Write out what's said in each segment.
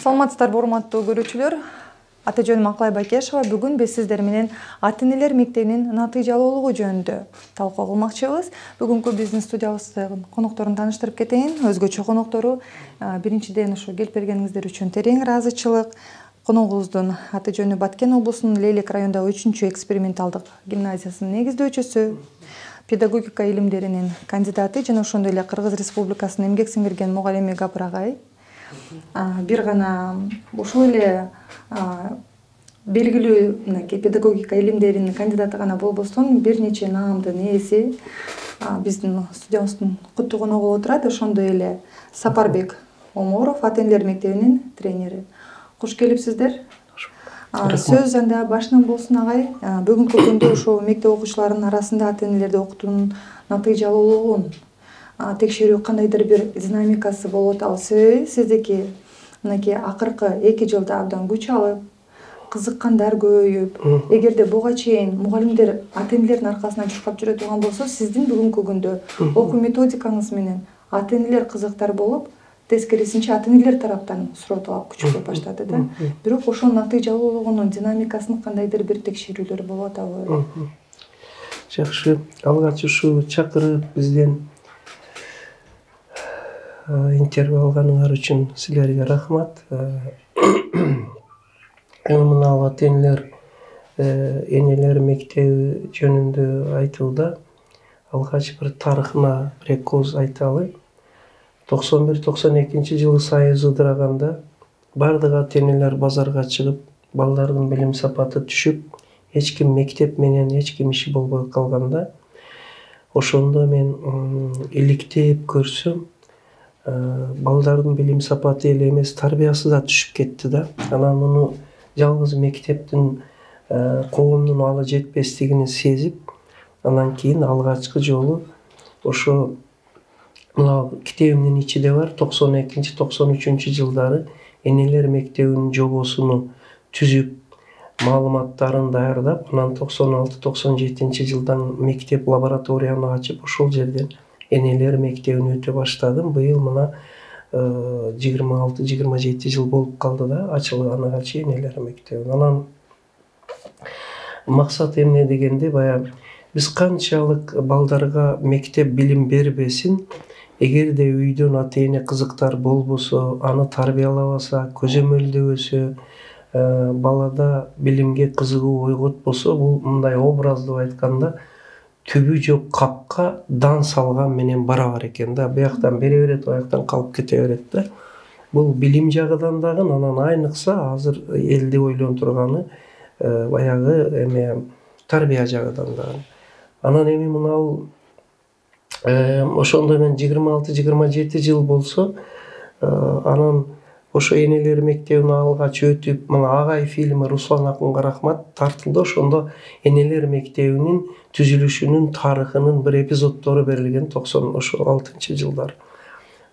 Саламатсыздарбы урматтуу көрүүчүлөр. Аты жөнүм Акылай Бакешова. Бүгүн биз сиздер менен ата-энелер мектебинин натыйжалуулугу жөнүндө талкуу кылмакчыбыз. Бүгүнкү биздин студиябыздагы конокторун тааныштырып кетейин. Өзгөчө коноктору биринчиден ушу келип бергениңиздер үчүн терең ыраазычылык. Коногубуздун аты жөнү Баткен облусунун Лейлек районундагы 3-чү эксперименталдык гимназиясынын негиздөөчүсү, педагогика илимдеринин кандидаты жана ошондой эле Кыргыз Республикасынын эмгек сиңирген мугалими Гапыр агай. Бир гана ушул эле белгилүү мынакей педагогика илимдеринин кандидаты гана болбостон бир нече наамдын ээси биздин студиябыздын куттуу коногу болуп турат. Ошондой эле Сапарбек Оморов, ата-энелер мектебинин тренери. Куш келипсиздер. Сөз анда башынан болсун агай. Бүгүнкү күндө ушул мектеп окуучуларынын арасында ата-энелерди окутуунун натыйжалуулугун текшерүү кандайдыр бир динамикасы болуп атабы? Себеби сиздики мынакей акыркы 2 жылда абдан күч алып, кызыккандар көбөйүп, эгерде буга чейин мугалимдер ата-энелердин аркасынан жушкап жүрө турган болсо, сиздин бүгүнкү күндө окуу методикаңыз менен ата-энелер кызыктар болуп, тескерисинче ата-энелер тараптан суроо талап күчөйө баштады да. Бирок ошонун натыйжалуулугунун динамикасын кандайдыр бир текшерүүлөр болуп атабы? Жакшы, алгач ушул чакырып бизден интервью алганыңар үчүн силерге рахмат. Мына ата-энелер энелер мектеби жөнүндө айтууда алгач бир тарыхына бир эки ооз айталы. 91-92 жылы Союз ыдыраганда бардык ата-энелер базарга чыгып, балдардын билим сапаты түшүп, эч ким мектеп менен эч ким иши болбой калганда, ошондо мен иликтеп көрсөм, балдардын билим сапаты эле эмес, тарбиясы да түшүп кетти да. Анан муну жалгыз мектептин коомдун алы жетпестигин сезип, анан кийин алгачкы жолу ошо мына китебимдин ичинде бар 92-93 жылдары энелер мектебинин жобосуну түзүп, маалыматтарын даярдап, анан 96-97 жылдан мектеп лабораторияны ачып, ошол жерден энелер мектебине өтө баштадым. Быйыл мына 26-27 жыл болуп калды да ачылганына чейин энелер мектеби. Анан максат эмне дегенде, баягы биз канчалык балдарга мектеп билим бербесин, эгерде үйдөн ата-эне кызыктар болбосо, аны тарбиялабаса, көзөмөлдөбөсө, балада билимге кызыгуу ойготпосо, бул мындай образдуу айтканда түбү жок капка дан салган менен барабар экен да. Бияктан бере берет, аяктан калып кете берет да. Бул билим жагынан дагы, анан айныкса азыр элди ойлонтурганы баягы эме тарбия жагынан дагы. Анан эми мынау ошондо мен 26-27 жыл болсо, анан ошо энелер мектебине алгач өтүп, мына Агай фильми, Руслан акынга рахмат, тартылды. Ошондо энелер мектебинин түзүлүшүнүн тарыхынын бир эпизоддору берилген 96 жылдары.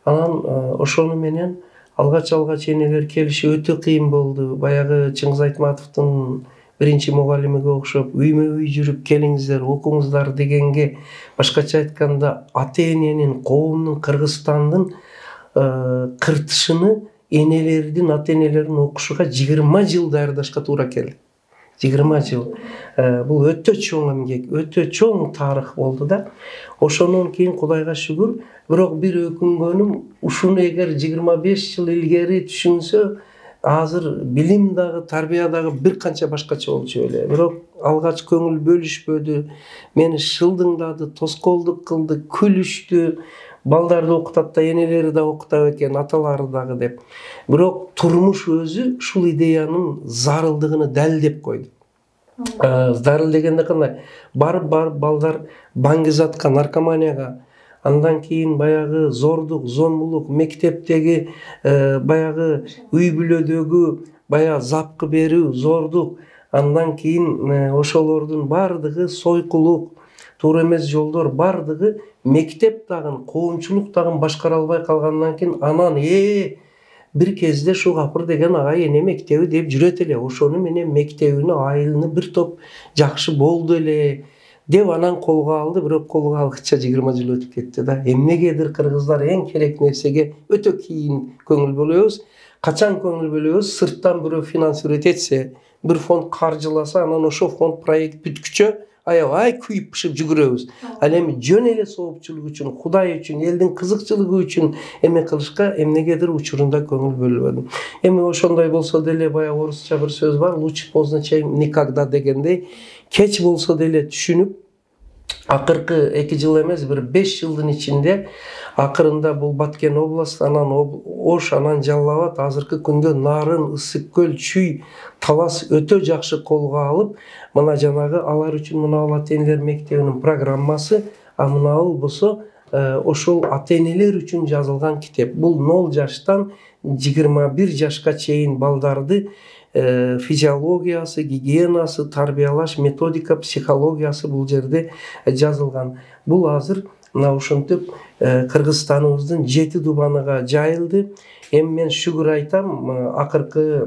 Анан ошону менен алгач энелер келиши өтө кыйын болду. Баягы Чыңгыз Айтматовдун биринчи мугалимиге окшоп, үймө-үй жүрүп келиңиздер, окуңуздар дегенге, башкача айтканда ата-эненин, коомдун, Кыргызстандын кыртышыны энелердин, ата-энелердин окушуга 20 жыл даярдашка туура келди. 20 жыл. Бул өтө чоң эмгек, өтө чоң тарых болду да. Ошондон кийин Кудайга шүгүр, бирок бир өкүнгөнүм, ушуну эгер 25 жыл илгери түшүнсө, азыр билим дагы, тарбия дагы бир канча башкача болчу эле. Бирок алгач көңүл бөлүшпөдү, мени шылдыңдады, тоскоолдук кылды, күлүштү. Балдарды окутат да, энелери да окутат экен, аталары дагы деп. Бирок турмуш өзү ушул идеянын зарылдыгын далилдеп койду. Зарыл дегенде кандай? Барып балдар баңгизатка, наркоманияга, андан кийин баягы зордук, зомбулук, мектептеги баягы үй бүлөдөгү баягы запкы берүү, зордук, андан кийин ошолордун бардыгы сойкулук, туура эмес жолдор бардыгы мектеп дагы, коомчулук дагы башкара албай калгандан кийин анан бир кезде шу Гапыр деген агай эне мектеби деп жүрөт эле. Ошону менен мектебини, айылыны бир топ жакшы болду эле деп анан колго алды. Бирок колго алгыча 20 жыл өтүп кетти да. Эмнегедир кыргыздар эң керек нерсеге өтө кийин көңүл бөлөбүз. качан көңүл бөлөбүз? Сырттан бирөө финансировать этсе, бир фонд каржыласа, анан ошол фонд проект бүткүчө аябай күйүп бышып жүгүрөбүз. Ал эми жөн эле соопчулук үчүн, Кудай үчүн, элдин кызыкчылыгы үчүн эме кылышка эмнегедир учурунда көңүл бөлбөдүм. Эми ошондой болсо деле, баягы орусча бир сөз бар, лучше поздно чем никогда дегендей, кеч болсо деле түшүнүп, акыркы 2 жыл эмес, бир 5 жылдын ичинде акырында бул Баткен область, анан Ош, анан Жалал Абад, азыркы күндө Нарын, Ысык көл, Чүй, Талас өтө жакшы колго алып, мына жанагы алар үчүн мына ата-энелер мектебинин программасы, мына болсо ошол ата-энелер үчүн жазылган китеп. Бул 0 жаштан 21 жашка чейин балдарды физиологиясы, гигиенасы, тарбиялаш, методика, психологиясы бул жерде жазылган. Бул азыр мына ушинтип Кыргызстаныбыздын 7 дубаныга жайылды. Эми мен шүгүр айтам, акыркы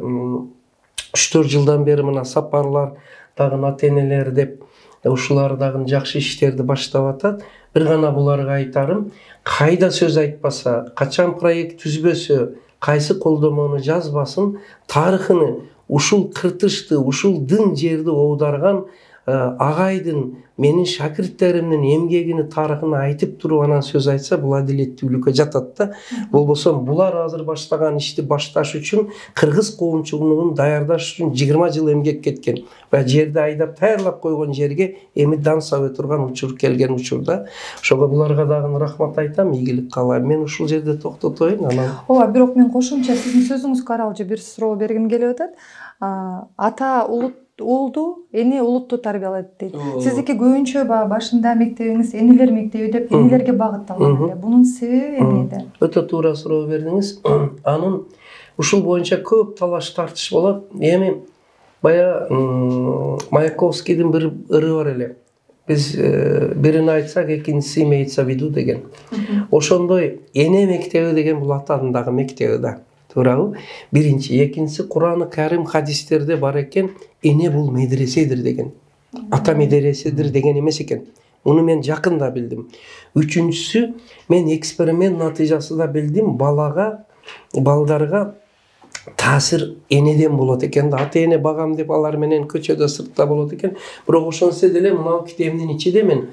3-4 жылдан бери мына сапарлар дагы ата-энелер деп ушулар дагы жакшы иштерди баштап атат. Бир гана буларга айтарым, кайда сөз айтпаса, качан проект түзбөсө, кайсы колдомону жазбасын, тарыхыны, ушул кыртышты, ушул дың жерди оодарган агайдын, менин шакирттеримдин эмгегини, тарыхын айтып туруп анан сөз айтса, бул адилеттүүлүккө жатат да. Болбосо булар азыр баштаган ишти башташ үчүн, кыргыз коомчулугун даярдаш үчүн 20 жыл эмгек кеткен. Баягы жерди айдап таярлап койгон жерге эми дан сабы турган учур келген учурда. Ошого буларга дагы рахмат айтам, ийгилик каалайм. Мен ушул жерде токтотоюн анан. Ооба, бирок мен кошумча сиздин сөзүңүзгө аралуу бир суроо бергим келип атат. Ата уулду, эне улутту тарбиялайт дейт. Сиздики көбүнчө башында мектебиңиз энелер мектеби деп энелерге багытталган эле. Бунун себеби эмнеде? Өтө туура суроо бердиңиз. Анын ушул боюнча көп талаш тартыш болот. Эми баягы Маяковскийдин бир ыры бар эле. Биз бирин айтсак, экинчиси имеется в виду деген. Ошондой эне мектеби деген бул атанын дагы мектеби да. Туурабы? Биринчи, экинчиси Кур'аны Карим хадистерде бар экен, эне бул медреседир деген. Ата медреседир деген эмес экен. Муну мен жакында билдим. Үчүнчүсү, мен эксперимент натыйжасында билдим, балдарга таасир энеден болот экен да. Ата-эне багам деп алар менен көчөдө, сыртта болот экен. Бирок ошонсо деле мына китебимдин ичинде мен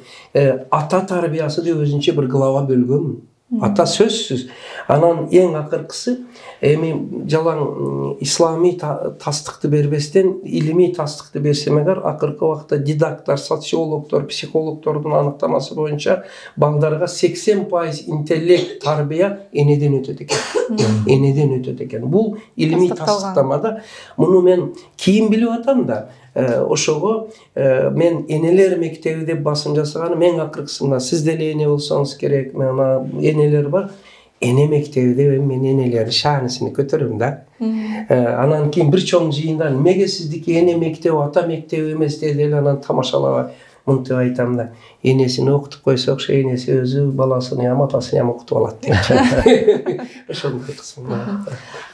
ата тарбиясы деп өзүнчө бир глава бөлгөмүн. Ата сөзсүз. Анан эң акыркысы, эми жалаң исламий тастыкты бербестен, илимий тастыкты берсем эгер, акыркы убакта дидакттар, социологдор, психологдордун аныктамасы боюнча балдарга 80% интеллект, тарбия энеден өтөт экен. Энеден өтөт экен. Бул илимий тастыктама да. Муну мен кийин билип атам да. Ошого мен энелер мектеби деп басым жасаганым, эң акыркысында сиз деле эне болсоңуз керек, мына энелер бар. Эне мектеби деп мен энелердин шаанысын көтөрөм да. Анан кийин бир чоң жыйында эмнеге сиздики эне мектеби, ата мектеби эмес деди эле, анан тамашалабай мынтип айтам да. Энесин окутуп койсокчу, энеси өзү баласын ям атасын окутуп алат деп. Ошондой кысымда.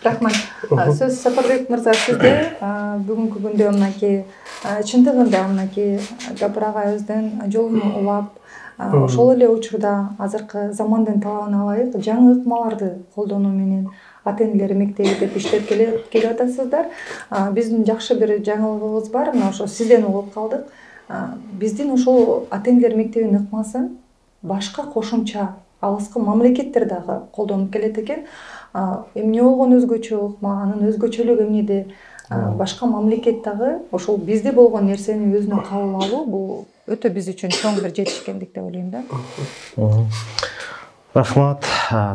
Рахмат. Сөз Сапарбек мырза сизде. Бүгүнкү күндө мынакей чындыгында мынакей Жапыр агайыбыздын жолун улап, ошол эле учурда азыркы замандын талабына ылайык жаңы ыкмаларды колдонуу менен ата-энелер мектеби деп иштеп келип атасыздар. Биздин жакшы бир жаңылыгыбыз бар, мына ошо сизден угуп калдык. Биздин ошол ата-энелер мектебинин ыкмасын башка кошумча алыскы мамлекеттер дагы колдонуп келет экен. Эмне болгон өзгөчө ыкма, анын өзгөчөлүгү эмнеде? Башка мамлекет дагы ошол бизде болгон нерсени өзүнө кабыл алуу бул өтө биз үчүн чоң бир жетишкендик деп ойлойм да. Рахмат,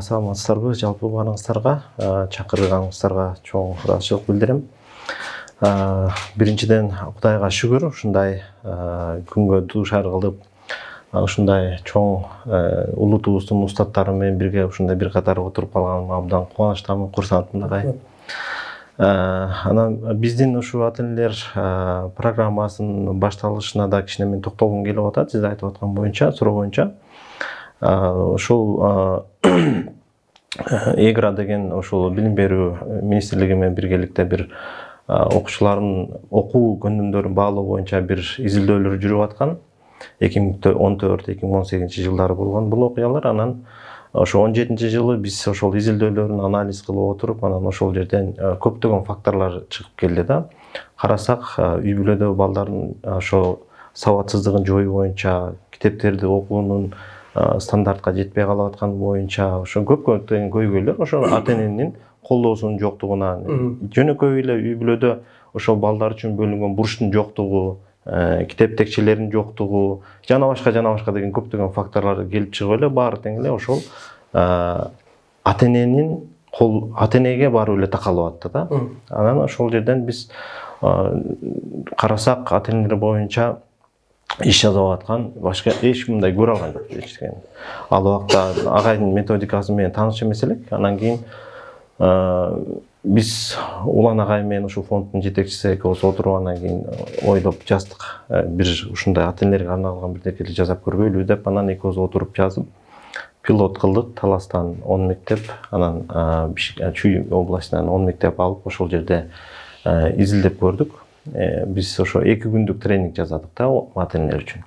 саламатсыздарбы жалпы баарыңыздарга, чакырганыңыздарга чоң ыраазычылык билдирем. Биринчиден Кудайга шүгүр, ушундай күнгө дуушар кылып, ушундай чоң улутубуздун устаттары менен бирге ушундай бир катар отуруп калганыма абдан кубанычтамын, курсантмын. Анан биздин ушу ата-энелер программасынын башталышына да кичине мен токтолгум келип атат, сиз айтып аткан боюнча, суроо боюнча. Ошол ЭГРА деген ошол билим берүү министрлиги менен биргеликте бир окуучулардын окуу көндүмдөрүн баалоо боюнча бир изилдөөлөр жүрүп аткан. 2014-2018 жылдары болгон бул окуялар. Анан ошо 17-жылы биз ошол изилдөөлөрүн анализ кылып отуруп, анан ошол жерден көптөгөн факторлор чыгып келди да. Карасак, үй бүлөдө балдардын ошо сабатсыздыгын жоюу боюнча, китептерди окуунун стандартка жетпей калып атканы боюнча, ошо көптөгөн көйгөйлөр ошо ата-эненин колдоосунун жоктугунан, жөнөкөй эле үй бүлөдө ошол балдар үчүн бөлүнгөн бурчтун жоктугу, китеп текчелеринин жоктугу, жана башка деген көптөгөн факторлор келип чыгып эле баары тең эле ошол ата-энеге барып эле такалып атты да. Анан ошол жерден биз карасак, ата-энелер боюнча иш жасап аткан башка эч ким мындай көрө алган жок. Ал убакта агайдын методикасы менен тааныш эмес элек. Анан кийин биз Улан агай менен ушул фонддун жетекчиси экөөбүз отуруп, анан кийин ойлоп жаздык. Бир ушундай ата-энелерге арналган бирдекеле жасап көрбөйлү деп, анан экөөбүз отуруп жазып, пилот кылдык. Таластан 10 мектеп, анан Чүй областынан 10 мектеп алып, ошол жерде изилдеп көрдүк. Биз ошо 2 күндүк тренинг жасадык да ата-энелер үчүн.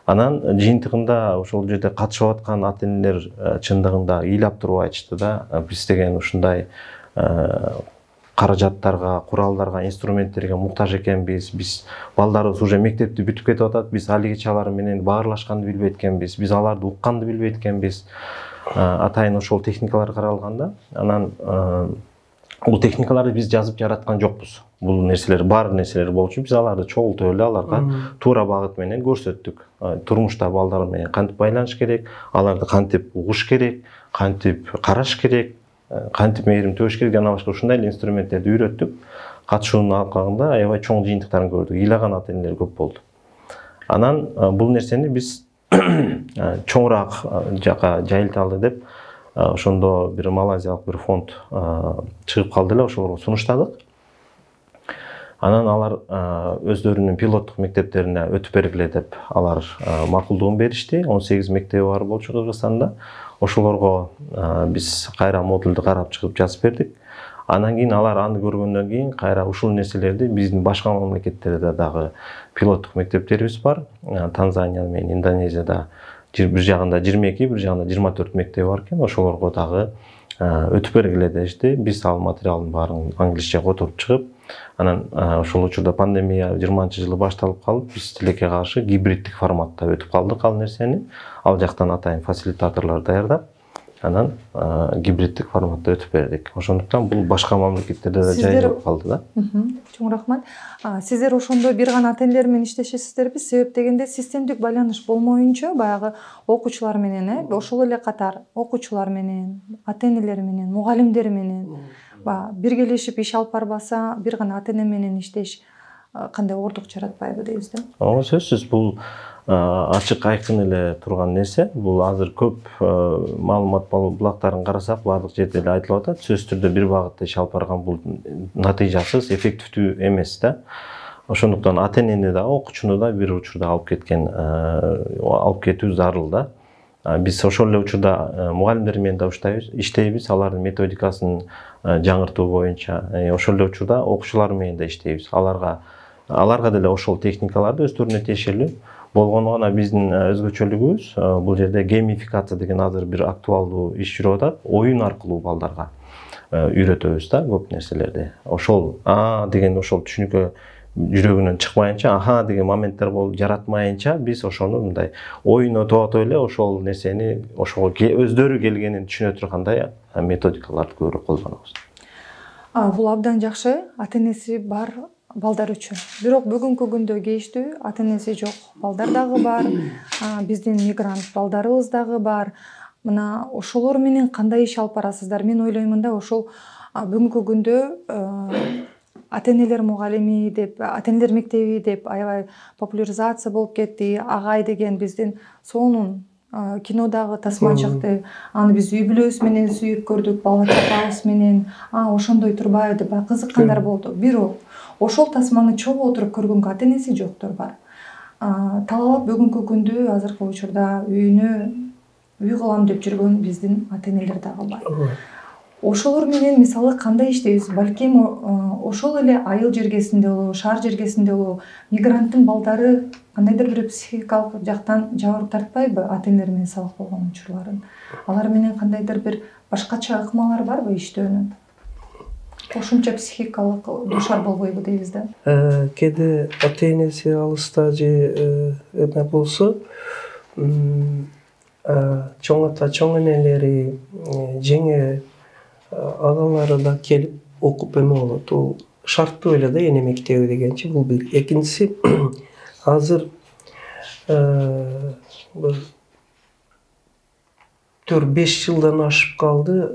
Анан жыйынтыгында ошол жерде катышып аткан ата-энелер чындыгында ыйлап туруп айтышты да, биз деген ушундай каражаттарга, куралдарга, инструменттерге муктаж экенбиз. Биз балдарыбыз уже мектепти бүтүп кетип атат. Биз алигичи алар менен баарлашканды билбейт экенбиз. Биз аларды укканды билбейт экенбиз. Атайын ошол техникалар каралганда, анан бул техникаларды биз жазып жараткан жокпуз. Бул нерселер, бар нерселер болчу, биз аларды чогултуп эле аларга туура багыт менен көрсөттүк. Турмушта балдар менен кантип байланыш керек, аларды кантип угуш керек, кантип караш керек, кантип мээрим төш керек, жана башка ушундай эле инструменттерди үйрөттүк. Катышуунун алкагында аябай чоң жыйынтыктарын көрдүк. Ыйлаган ата-энелер көп болду. Анан бул нерсени биз чоңураак жака жайылталы деп, ошондо бир малайзиялык бир фонд чыгып калды эле, ошолорго сунуштадык. Анан алар өздөрүнүн пилоттук мектептерине өтүп бергиле деп алар макулдугун беришти. 18 мектеби бар болчу Кыргызстанда. Ошолорго биз кайра модулду карап чыгып жазып бердик. Анан кийин алар аны көргөндөн кийин кайра ушул нерселерди биздин башка мамлекеттерде дагы пилоттук мектептерибиз бар. Танзания менен Индонезияда бир жагында 22, бир жагында 24 мектеби бар экен. Ошолорго дагы өтүп бергиле дешти. Биз ал материалдын баарын англисче которуп чыгып, анан ошол учурда пандемия 20-жылы башталып калып, биз тилекке каршы гибриддик форматта өтүп калдык ал нерсени. Ал жактан атайын фасилитаторлор даярдап, анан гибриддик форматта өтүп бердик. Ошондуктан бул башка мамлекеттерде да жайылып калды да. Чоң рахмат. Сиздер ошондо бир гана ата-энелер менен иштешесиздерби? Себеп дегенде системдик байланыш болмоюнча, баягы окуучулар менен, ошол эле катар окуучулар менен, ата-энелер менен, мугалимдер менен биргелешип иш алып барбаса, бир гана ата-эне менен иштеш кандай оордук жаратпайбы дейбиз да? Ооба, сөзсүз бул ачык айкын эле турган нерсе. Бул азыр көп маалымат булактарын карасак, баардык жерде эле айтылып атат. Сөзсүз түрдө бир багытта иш алып барган бул натыйжасыз, эффективдүү эмес да. Ошондуктан ата-энени да, окуучуну да бир учурда алып кетүү зарыл да. Биз ошол эле учурда мугалимдер менен да иштейбиз, алардын методикасын жаңыртуу боюнча. Ошол эле учурда окуучулар менен да иштейбиз. Аларга деле ошол техникаларды өздөрүнө тиешелүү. Болгону гана биздин өзгөчөлүгүбүз бул жерде геймификация деген азыр бир актуалдуу иш жүрүп атат. Оюн аркылуу балдарга үйрөтөбүз да көп нерселерди. Ошол деген ошол түшүнүккө жүрөгүнөн чыкмайынча, деген моменттер болуп жаратмайынча, биз ошону мындай ойнотуп эле ошол нерсени ошого өздөрү келгенин түшүнө тургандай методикаларды көбүрөөк колдонобуз. Бул абдан жакшы, ата-энеси бар балдар үчүн. Бирок бүгүнкү күндө кейиштүү ата-энеси жок балдар дагы бар, биздин мигрант балдарыбыз дагы бар. Мына ошолор менен кандай иш алып барасыздар? Мен ойлоймун да, ошол бүгүнкү күндө ата-энелер мугалими деп, ата-энелер мектеби деп аябай популяризация болуп кетти. Агай деген биздин сонун кинодагы тасма чыкты. Аны биз үй бүлөбүз менен сүйүп көрдүк, бала чакабыз менен. Ошондой турбайбы деп кызыккандар болду. Бирок ошол тасманы чогуу отуруп көргөнгө ата-энеси жоктор бар. Талап бүгүнкү күндө азыркы учурда үйүнө үй кылам деп жүргөн биздин ата-энелер дагы бар. ошолор менен мисалы кандай иштейбиз? Балким ошол эле айыл жергесинде болобу, шаар жергесинде болобу, мигранттын балдары кандайдыр бир психикалык жактан жабыр тартпайбы ата-энелер менен сабак болгон учурларын? Алар менен кандайдыр бир башкача ыкмалар барбы иштөөнүн? Кошумча психикалык душар болбойбу дейбиз да. Кээде ата-энеси алыста же эме болсо, чоң ата, чоң энелери, жеңе агалары да келип окуп эме болот. Бул шарттуу эле да эне мектеби дегенчи. Бул бир. Экинчиси, азыр бир 4-5 жылдан ашып калды.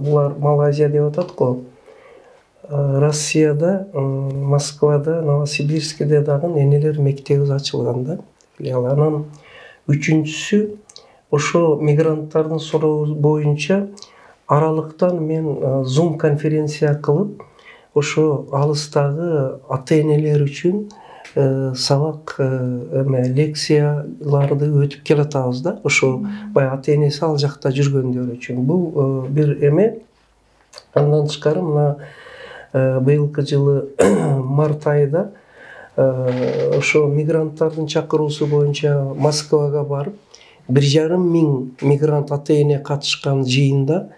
Булар Малайзия деп атат го. Россияда, Москвада, Новосибирскиде дагы энелер мектеби ачылган да. Анан үчүнчүсү, ошо мигранттардын суроосу боюнча аралыктан мен Zoom конференция кылып, ошо алыстагы ата-энелер үчүн сабак лекцияларды өтүп келатабыз да. Ошо баягы ата-энеси ал жакта жүргөндөр үчүн. Бул бир эме. Андан тышкары мына быйылкы жылы март айында ошо мигранттардын чакыруусу боюнча Москвага барып, 1,5 миң мигрант ата-эне катышкан жыйында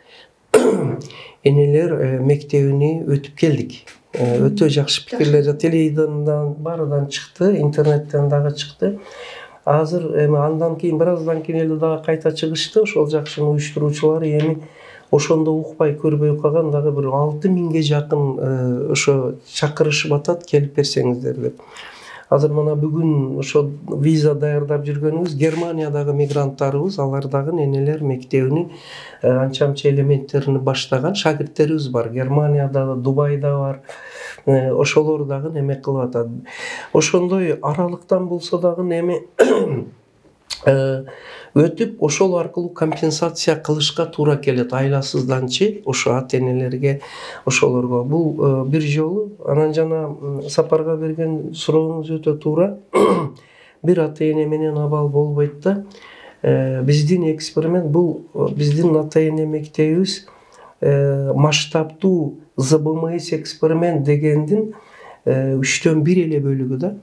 энелер мектебине өтүп келдик. Өтө жакшы пикирлер, телевизордон баарынан чыкты, интернеттен дагы чыкты. Азыр эми андан кийин бир аздан кийин эле дагы кайта чыгышты. Ошол жакшынын уюштуруучулары эми ошондо укпай көрбөй калган дагы бир 6 миңге жакын ошо чакырышып атат, келип берсеңиздер деп. Азыр мына бүгүн ошо виза даярдап жүргөнүбүз Германиядагы мигранттарыбыз, алар дагы энелер мектебини анча-мынча элементтерин баштаган шакирттерибиз бар. Германияда, Дубайда бар. Ошолор дагы эме кылып атат. Ошондой аралыктан болсо дагы эми өтүп, ошол аркылуу компенсация кылышка туура келет айласызданчы ошо ата-энелерге, ошолорго. Бул бир жолу. Анан жана Сапарга берген сурооңуз өтө туура. Бир ата-эне менен абал болбойт да. Биздин эксперимент бул, биздин ата-эне мектебибиз масштабтуу ЗБМС эксперимент дегендин 3/1 эле бөлүгү да.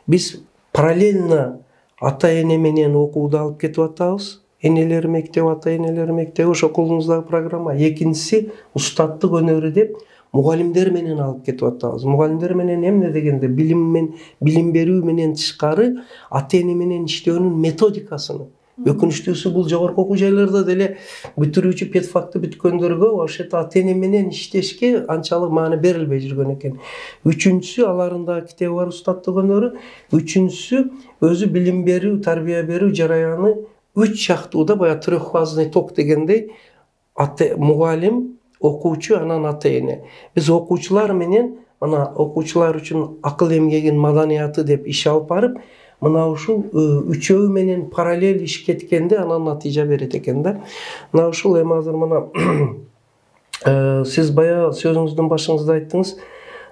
Биз параллельно ата-эне менен окууду алып кетип атабыз. Энелер мектеби, ата-энелер мектеби ошо колуңуздагы программа. Экинчиси устаттык өнөрү деп мугалимдер менен алып кетип атабыз. Мугалимдер менен эмне дегенде билим берүү менен тышкары ата-эне менен иштөөнүн методикасын. Өкүнүчтүүсү бул жогорку окуу жайларда деле бүтүрүүчү педфакты бүткөндөргө ошо ата-эне менен иштешке анчалык маани берилбей жүргөн экен. Үчүнчүсү, аларында китеби бар устаттык өнөрү. Үчүнчүсү, өзү билим берүү, тарбия берүү жараяны 3 шактууда, баягы трехфазный ток дегендей, мугалим, окуучу, анан ата-эне. Биз окуучулар менен, мына окуучулар үчүн акыл эмгегин маданияты деп иш алып барып, мына ушул үчөө менен параллель иш кеткенде анан натыйжа берет экен да. Мына ушул эми азыр мына сиз баягы сөзүңүздүн башыңызда айттыңыз,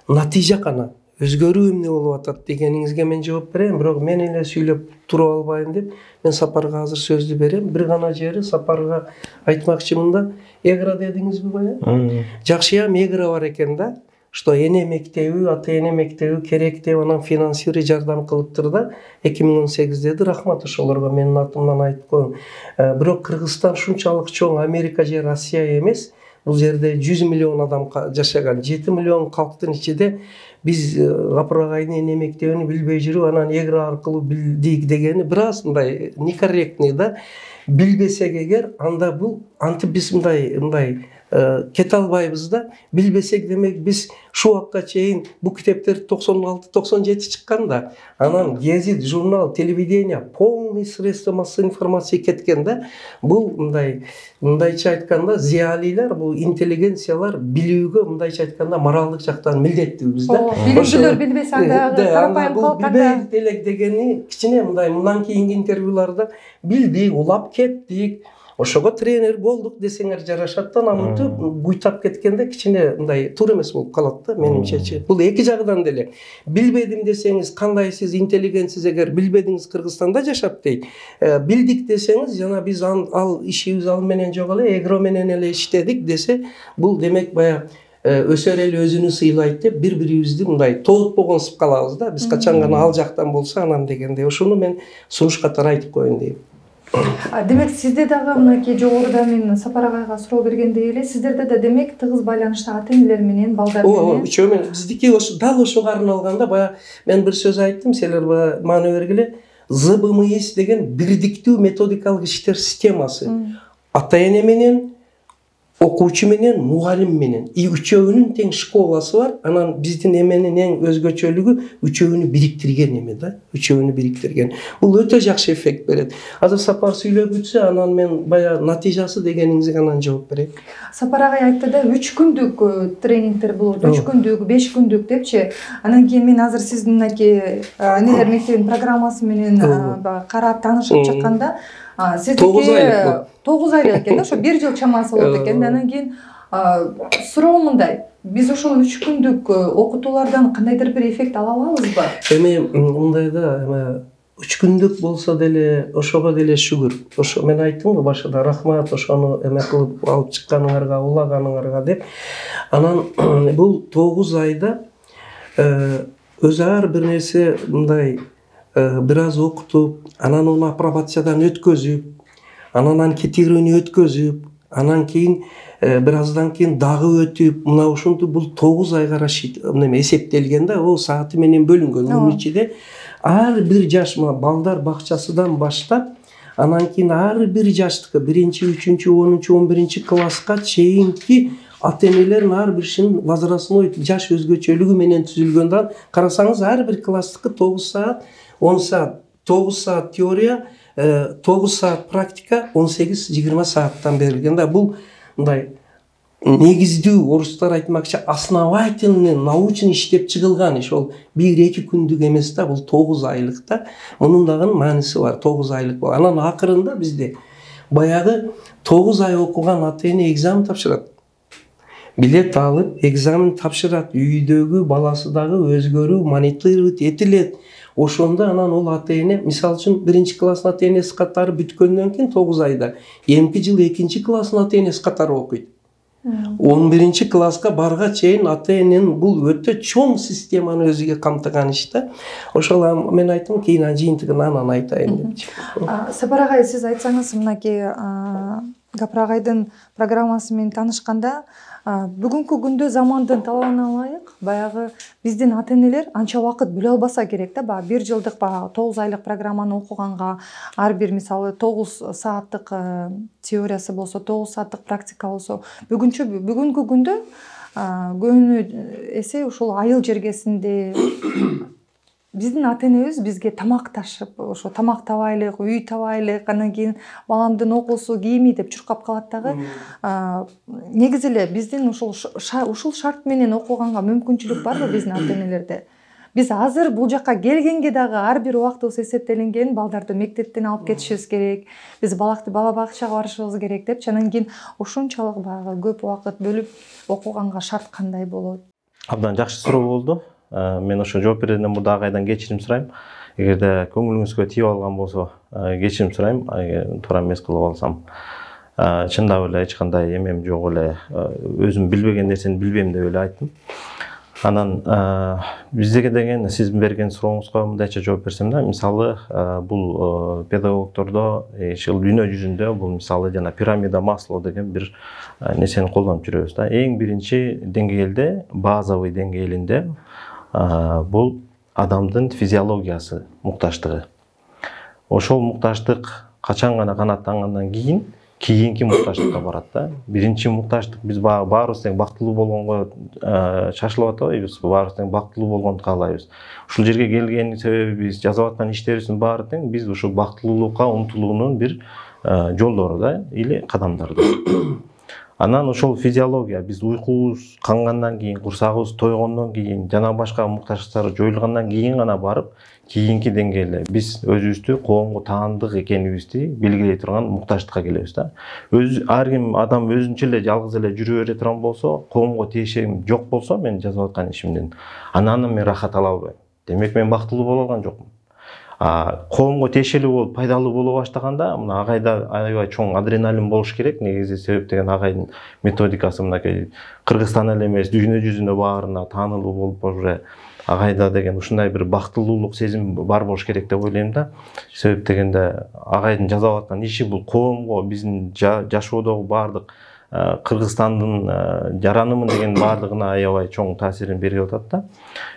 натыйжа кана, өзгөрүү эмне болуп атат дегениңизге мен жооп берем, бирок мен эле сүйлөп туруп албайын деп мен Сапарга азыр сөздү берем. Бир гана жери Сапарга айтмакчымын. Эгра дедиңизби баягы? Жакшыям эгра бар экен да. Что эне мектеби, ата-эне мектеби керек деп анан финансири жардам кылыптыр да. 2018-деди. Рахмат ошолорго менин атымдан айтып коеюн. Бирок Кыргызстан шунчалык чоң, Америка же Россия эмес. Бул жерде 100 миллион адам жашаган. 7 миллион калктын ичинде биз Гапырагайдын эне мектебини билбей жүрүп, анан эгра аркылуу билдик дегени бир аз мындай некорректный да. Билбесек эгер, анда бул антип биз мындай кете албайбыз да. Билбесек демек биз шу убакка чейин бул китептер 96-97 чыккан да. Анан гезит, журнал, телевидение, полный средства массовой информации кеткен да. Бул мындайча айтканда зиялилар, бул интеллигенциялар билүүгө мындайча айтканда моралдык жактан милдеттүүбүз да. Билүүчүлөр билбесе анда карапайым калканда билбей элек дегени кичине мындан кийинки интервьюларда билдик, улап кеттик. ошого тренер болдук десеңер жарашат да, намынтып буйтап кеткенде кичине мындай туура эмес болуп калат да менимчечи. Бул эки жагынан деле. Билбедим десеңиз, кандай сиз интеллигентсиз эгер билбедиңиз Кыргызстанда жашап дейт. Билдик десеңиз, жана биз ал ишибиз ал менен жок эле, эгро менен эле иштедик десе, бул демек баягы өсөр эл өзүнү сыйлайт деп бири-бирибизди мындай тоотпогонсуп калабыз да. Биз качан гана ал жактан болсо анан дегенде ошону мен сунуш катары айтып коеюн дейм. Демек сизде дагы мынакей жогоруда мен Сапар агайга суроо бергендей эле, сиздерде да демек тыгыз байланышта ата-энелер менен, балдар менен. Үчөө менен биздики дал ошого арналганда баягы мен бир сөз айттым, силер баягы маани бергиле. ЗБМИС деген бирдиктүү методикалык иштер системасы. Ата-эне менен, окуучу менен, мугалим менен. Үчөөнүн тең школасы бар. Анан биздин эменин эң өзгөчөлүгү үчөөнү бириктирген эме да. Үчөөнү бириктирген. Бул өтө жакшы эффект берет. Азыр Сапар сүйлөп өтсө, анан мен баягы натыйжасы дегениңизге анан жооп берейин. Сапар агай айтты да, 3 күндүк тренингдер болот, 3 күндүк, 5 күндүк депчи. Анан кийин мен азыр сиздин мынакей энелер мектебинин программасы менен карап таанышып чыкканда, сиздики 9 айлык экен да, ошо 1 жыл чамасы болот экен. Анан кийин суроо мындай, биз ошол 3 күндүк окутуулардан кандайдыр бир эффект ала алабызбы? Эми мындай да, 3 күндүк болсо деле ошого деле шүгүр. Ошо мен айттым го башында, рахмат ошону эме кылып алып чыкканыңарга, улаганыңарга деп. Анан бул 9 айда өзү ар бир нерсе мындай бир аз окутуп, анан ону апробациядан өткөзүп, анан анкетирование өткөзүп, анан кийин бир аздан кийин дагы өтүп, мына ушунтип бул 9 айга эсептелген да, о сааты менен бөлүнгөн. Мунун ичинде ар бир жаш, мына балдар бакчасынан баштап, анан кийин ар бир жаштыкы 1-3, 10, 11 класска чейинки ата-энелердин ар биринин возрастной жаш өзгөчөлүгү менен түзүлгөн да. Карасаңыз ар бир класстыкы 9 саат, 10 саат, 9 саат теория, 9 саат практика, 18-20 сааттан берилген да. Бул мындай негиздүү, орустар айтмакчы, основательный, научный иштеп чыгылган иш. Ол 1-2 күндүк эмес да, бул 9 айлык да. Мунун дагы мааниси бар, 9 айлык. Анан акырында бизде баягы 9 ай окуган ата-эне экзамен тапшырат. Билет алып, экзамен тапшырат. Үйдөгү баласы дагы өзгөрүү мониторинг этилет. Ошондо анан ол ата-эне, мисалы үчүн 1-класстын ата-энеси катары бүткөндөн кийин 9 айда эмки жыл 2-класстын ата-энеси катары окуйт. 11 барга чейин ата-эненин бул өтө чоң системаны өзүгө камтыган иш да. Ошол мен айттым, кийин жыйынтыгын анан айтайын депчи. Сапар агай, сиз айтсаңыз, мынакей Гапар агайдын программасы менен таанышканда, бүгүнкү күндө замандын талабына ылайык баягы биздин ата-энелер анча убакыт бөлө албаса керек да. Баягы 1 жылдык 9 айлык программаны окуганга ар бир мисалы 9 сааттык теориясы болсо, 9 сааттык практика болсо, бүгүнкү күндө көбүнө эсе ушул айыл жергесинде биздин ата-энебиз бизге тамак ташып, ошо тамак табайлык, үй табайлык, анан кийин баламдын окуусу, кийими деп чуркап калат дагы. Негизи эле биздин ушул шарт менен окуганга мүмкүнчүлүк барбы биздин ата-энелерде? Биз азыр бул жакка келгенге дагы ар бир убактыбыз эсептелинген, балдарды мектептен алып кетишибиз керек, биз бала бакчага барышыбыз керек депчи. Анан кийин ошончолук баягы көп убакыт бөлүп окуганга шарт кандай болот? Абдан жакшы суроо болду. Мен ошо жооп берүүдөн мурда агайдан кечирим сурайм. Эгерде көңүлүңүзгө тийип алган болсо, кечирим сурайм. Туура эмес кылып алсам. Чындап эле эч кандай эмем жок эле. Өзүм билбеген нерсени билбейм деп эле айттым. Анан биздеге деген сиз берген сурооңузга мындайча жооп берсем да, мисалы бул педагогтордо дүйнө жүзүндө бул мисалы жана пирамида Маслоу деген бир нерсени колдонуп жүрөбүз да. Эң биринчи деңгээлде, базовый деңгээлинде бул адамдын физиологиясы, муктаждыгы. Ошол муктаждык качан гана канааттангандан кийинки муктаждыкка барат да. Биринчи муктаждык биз баарыбыз тең бактылуу болгонго шашылып атабайбыз, баарыбыз тең бактылуу болгонду каалайбыз. Ушул жерге келген себебибиз, жасап аткан иштерибиздин баары тең биз ушул бактылуулукка умтулуунун бир жолдору да, или кадамдары да. Анан ошол физиология биз уйкубуз кангандан кийин, курсагыбыз тойгондон кийин, жана башка муктаждыктар жоюлгандан кийин гана барып кийинки деңгээлде биз өзүбүздү коомго таандык экенибизди белгилей турган муктаждыкка келебиз да. Ар ким адам өзүнчө эле жалгыз эле жүрө бере турган болсо, коомго тиешем жок болсо, мен жасап аткан ишимден анан мен рахат ала албайм. Демек мен бактылуу боло алган жокмун. Коомго тиешелүү болуп, пайдалуу боло баштаганда, мына агайда аябай чоң адреналин болуш керек. Негизи себеп деген агайдын методикасы мынакей Кыргызстан эле эмес, дүйнө жүзүнө баарына таанылуу болуп уже агайда деген ушундай бир бактылуулук сезим бар болуш керек деп ойлойм да. Себеп дегенде агайдын жасап аткан иши бул коомго, биздин жашоодогу баардык Кыргызстандын жаранымын деген баардыгына аябай чоң таасирин берип атат да.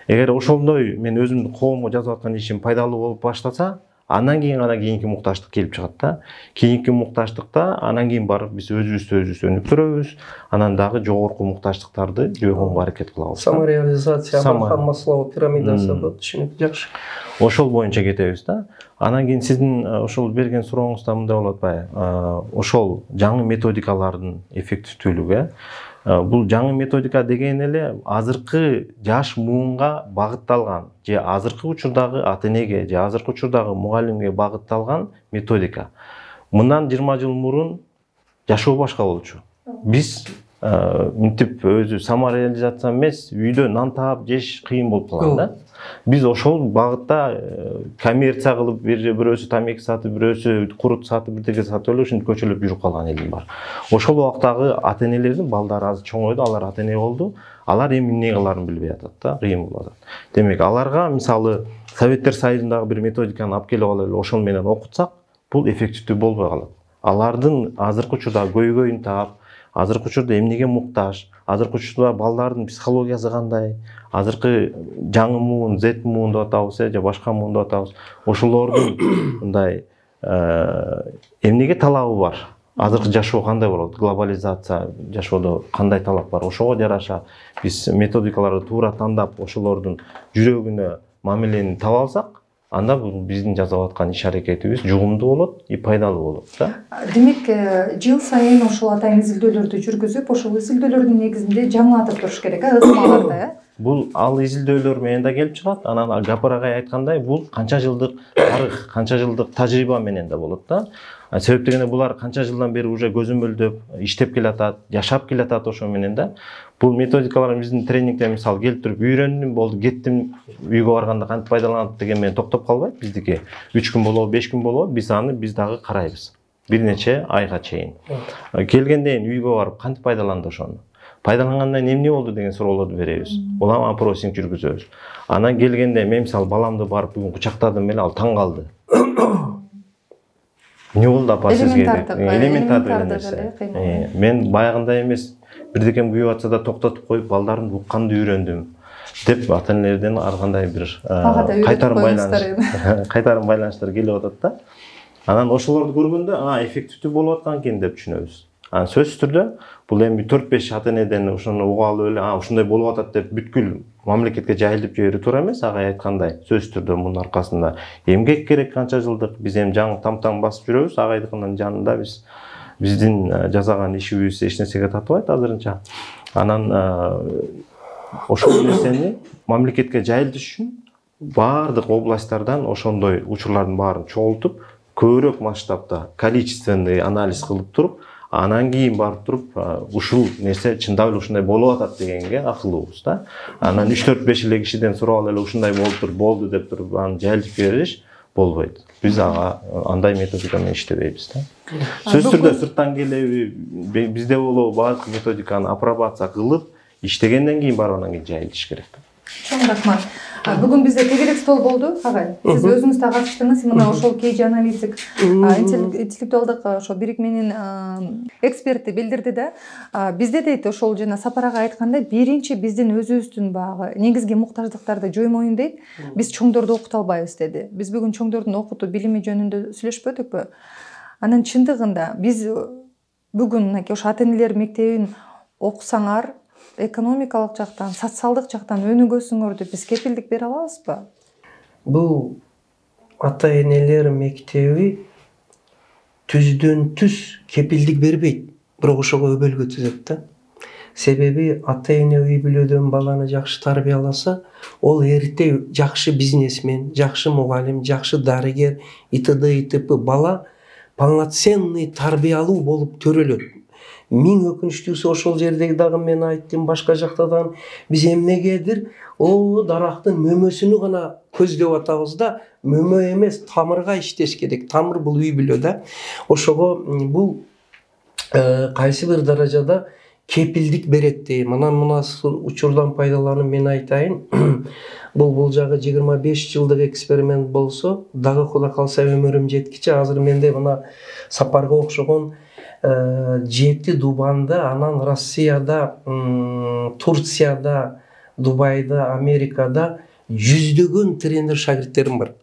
Эгер ошондой мен өзүмдүн коомго жасап аткан ишим пайдалуу болуп баштаса, андан кийин гана кийинки муктаждык келип чыгат да. Кийинки муктаждыкта анан кийин барып биз өзүбүздү өнүктүрөбүз, анан дагы жогорку муктаждыктарды жойгонго аракет кылабыз. Самореализация, Абрахам Маслоу пирамидасы болот, түшүнүктүү, жакшы. Ошол боюнча кетебиз да. Анан кийин сиздин ошол берген сурооңузда мындай болуп атпайбы? Ошол жаңы методикалардын эффективдүүлүгү, бул жаңы методика деген эле азыркы жаш муунга багытталган, же азыркы учурдагы ата энеге, же азыркы учурдагы мугалимге багытталган методика. Мындан 20 жыл мурун жашоо башка болчу. Биз мынтип өзү самореализация эмес, үйдө нан таап жеш кыйын болуп калган да. Биз ошол багытта коммерция кылып, бирөөсү тамеки сатып, бирөөсү курут сатып, бирдеке сатып эле ушинтип көчөлөп жүрүп калган элим бар. Ошол убактагы ата энелердин балдары азыр чоңойду, алар ата эне болду. Алар эми эмне кыларын билбей атат да, кыйын болуп атат. Демек, аларга мисалы Советтер Союзундагы бир методиканы алып келип алып эле ошол менен окутсак, бул эффективдүү болбой калат. Алардын азыркы учурда көйгөйүн таап, азыркы учурда эмнеге муктаж, азыркы учурда балдардын психологиясы кандай, азыркы жаңы муун, Z муун деп атабыз, же башка муун деп атабыз. Ошолордун мындай эмнеге талабы бар? Азыркы жашоо кандай болот? Глобализация жашоодо кандай талап бар? Ошого жараша биз методикаларды туура тандап, ошолордун жүрөгүнө мамилени таба алсак, анда бул биздин жасап аткан иш аракетибиз жугумдуу болот и пайдалуу болот да. Демек, жыл сайын ошол атайын изилдөөлөрдү жүргүзүп, ошол изилдөөлөрдүн негизинде жаңылатып туруш керек, ысмаларды. Бул ал изилдөөлөр менен да келип чыгат. Анан Гапар агай айткандай, бул канча жылдык тарых, канча жылдык тажрыйба менен да болот да. Себеп дегенде булар канча жылдан бери уже көзөмөлдөп, иштеп келатат, жашап келатат ошо менен да. Бул методикалар биздин тренингде мисалы келип туруп үйрөндүм, болду, кеттим, үйгө барганда кантип пайдаланат деген менен токтоп калбайт биздики. 3 күн болобу, 5 күн болобу, биз дагы карайбыз. Бир нече айга чейин. Келгенден үйгө барып кантип пайдаланды ошону? Пайдалангандан эмне болду деген суроолорду беребиз. Улам опросинг жүргүзөбүз. Анан келгенде мен мисалы баламды барып бүгүн кучактадым эле, ал таң калды. Эмне болду апа сизге? Элементардык нерсе. Мен баягындай эмес, бирдекем күйүп атса да токтотуп коюп, балдардын укканды үйрөндүм деп ата энелерден ар кандай бир кайтарым байланыштар келип атат да. Анан ошолорду көргөндө, эффективдүү болуп аткан экен деп түшүнөбүз. Анан сөзсүз түрдө бул эми 4-5 ата энеден ошону угуп алып эле, ушундай болуп атат деп бүткүл мамлекетке жайылып жиберүү туура эмес. Агай айткандай, сөзсүз түрдө мунун аркасында эмгек керек канча жылдык. Биз эми жаңы там-там басып жүрөбүз. Агайдыкынын жанында биздин жасаган ишибиз эч нерсеге татыбайт азырынча. Анан ошол нерсени мамлекетке жайылтыш үчүн баардык областтардан ошондой учурлардын баарын чогултуп, көбүрөөк масштабта количественный анализ кылып туруп, анан кийин барып туруп ушул нерсе чындап эле ушундай болуп атат дегенге акылыбыз да. Анан 3-4-5 эле кишиден сурап эле ушундай болуп туруп болду деп туруп аны жайылтып бериш болбойт. Биз андай методика менен иштебейбиз да. Сөзсүз түрдө сырттан келеби, бизде болобу баардык методиканы апробация кылып, иштегенден кийин барып анан кийин жайылтыш керек. Чоң рахмат. Бүгүн бизде тегерек стол болду, агай. Сиз өзүңүз да катыштыңыз. Мына ошол KG аналитик интеллектуалдык ошо бирикменин эксперти билдирди да. Бизде дейт ошол жана Сапар агай айткандай, биринчи биздин өзүбүздүн баягы негизги муктаждыктарды жоймоюн дейт. Биз чоңдорду окута албайбыз деди. Биз бүгүн чоңдордун окутуу билими жөнүндө сүйлөшпөдүкпү? Анан чындыгында биз бүгүн мынакей ошо ата энелер мектебин окусаңар, экономикалык жактан, социалдык жактан өнүгөсүңөр деп биз кепилдик бере алабызбы? Бул ата энелер мектеби түздөн түз кепилдик бербейт. бирок ошого өбөлгө түзөт да. Себеби ата-эне үй бүлөдөн баланы жакшы тарбияласа, ол эрте жакшы бизнесмен, жакшы мугалим, жакшы дарыгер, итп. Бала полноценный тарбиялуу болуп төрөлөт. Миң өкүнүчтүүсү ошол жердеги дагы мен айттым, башка жактадан биз эмнегедир дарактын мөмөсүнү гана көздөп атабыз да, мөмө эмес, тамырга иштеш керек. Тамыр бул үй бүлө да. Ошого бул кайсы бир даражада кепилдик берет дейм. Мына учурдан пайдаланып мен айтайын. Бул жагы 25 жылдык эксперимент болсо, дагы Кудай калса өмүрүм жеткиче азыр менде мына Сапарга окшогон 7 Дубанда, анан Россияда, Турцияда, Дубайда, Америкада жүздөгөн тренер шагирттерим бар.